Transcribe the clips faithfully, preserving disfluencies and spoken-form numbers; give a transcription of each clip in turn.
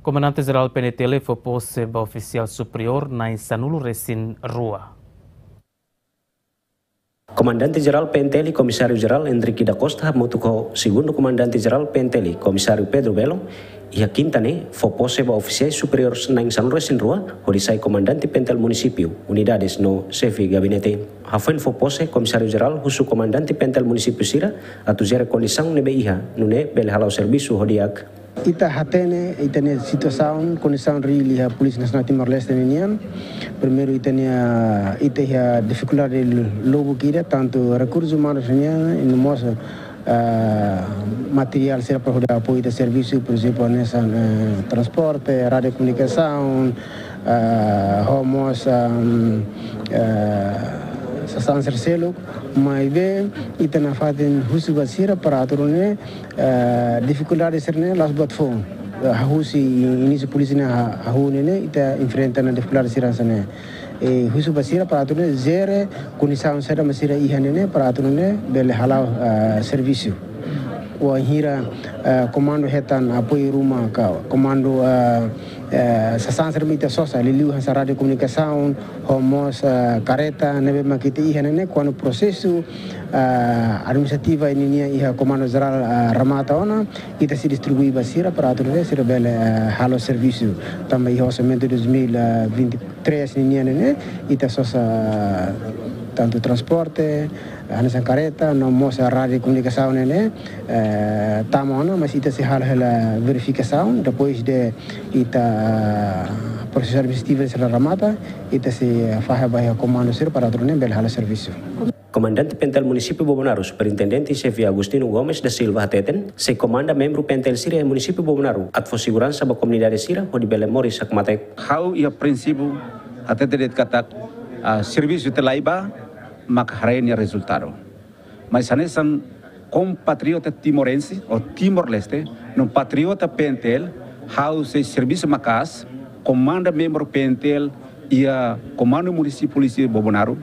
Komandante Jerál P N T L fó pose ba ofisiál superiór na'in sanulu-resin-rua. Komandante Jerál P N T L, Komisáriu Jerál Henrique da Costa, hamutuk ho Segundu Komandante Jerál P N T L, Komisáriu Pedro Belo, iha kinta ne'e fó pose ba ofisiais superiores na'in sanulu-resin-rua hodi sai komandante P N T L munisípiu, unidades no xefe gabinete. Hafoin fó pose, Komisáriu Jerál husu komandante P N T L munisípiu sira atu jere kondisaun ne'ebé iha, nune'e bele hala'o servisu ho di'ak. Ita hatene ita-nia situasaun, kondisaun reál iha Polísia Nasionál Timor-Leste ninian. Primeiru, ita-nia, ita iha difikuldade lubuk ida, tantu rekursus umanus nian, i no mós, ah, materiál sira para hodi apoiu ita servisu, por ezemplu, hanesan, eh, transporte, radiokomunikasaun, ah, ho mós, ah, eh, sasán sira seluk, maibé ita nafatin husu ba sira para atu nune'e, eh, difikuldade sira-ne'e la'ós buat foun. Eh, husi inísiu polísia ne'e ha-, hahú ne'e, ita enfrenta ona difikuldade sira hanesan ne'e. I husu ba sira para atu nune'e jere kondisaun saida mak sira iha ne'e para atu nune'e bele hala'o, eh, servisu. Wainhira, eh, komandu hetan apoiu ruma ka komandu, eh, eh, sasán sira mak ita sosa, liuliu hanesan radiokomunikasaun, ho mós, eh, kareta ne'ebé mak ita iha ne'e, kuandu prosesu, eh, administrativa ninian iha Komandu Jerál, eh, remata ona, ita sei distribui ba sira para atu nune'e sira bele, eh, halo servisu. Tanba iha orsamentu dois mil e vinte e três ninian ne'e, ita sosa tantu transporte, hanesan kareta, no mós radiokomunikasaun ne'e, eh, tama ona, mas ita sei halo hela verifikasaun, depois de ita prosesu administrativu sira remata, ita sei fahe ba iha komandu sira para atu nune'e bele halo servisu. Komandante P N T L Munisípiu Bobonaro, Superintendente Xefe Agostinho Gomes da Silva hateten, sei komanda membru P N T L sira iha Munisípiu Bobonaro, atu fó seguransa ba komunidade sira hodi bele moris hakmatek. Ha'u iha prinsípiu hatete de'it katak, ah, servisu ita laiha ba, maka haree nia rezultadu. Mas hanesan kompatriota timorense ou Timor-Leste, no patriota P N T L, ha'u sei servisu maka'as, komanda membru P N T L iha Komandu Munisípiu Polísia Bobonaro,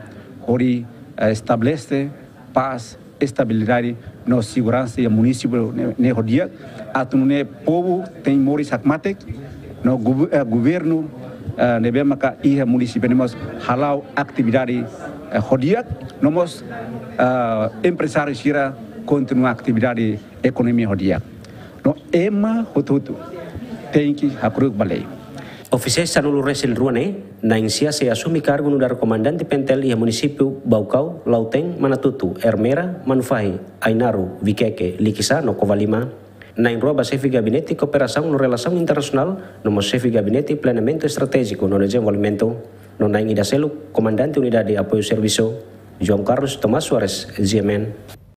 hodi, eh, estabelese pás, estabilidade no seguransa iha munisípiu ne'e, ne'e ho di'ak, atu nune'e povu tenke moris hakmatek, no gover-, eh, governu, eh, ne'ebé maka iha munisípiu ne'e mós hala'o atividade, eh, ho di'ak, no mós, eh, emprezáriu sira kontinua atividade ekonomia ho di'ak. No ema hotu-hotu tenke hakru'uk ba lei. Ofisiál sanulu-resin-rua ne'e, na'in sia sei asume kargu nu'udar komandante P N T L iha munisípiu Baucau, Lautém, Manatuto, Ermera, Manufahi, Ainaro, Viqueque, Liquiçá no Covalima. Na'in rua ba xefe gabinete kooperasaun no relasaun internasionál, no mós xefe gabinete planeamentu estratéjiku no dezenvolvimentu. No na'in ida seluk, komandante unidade apoiu servisu. João Carlos Tomás Soares, G M N.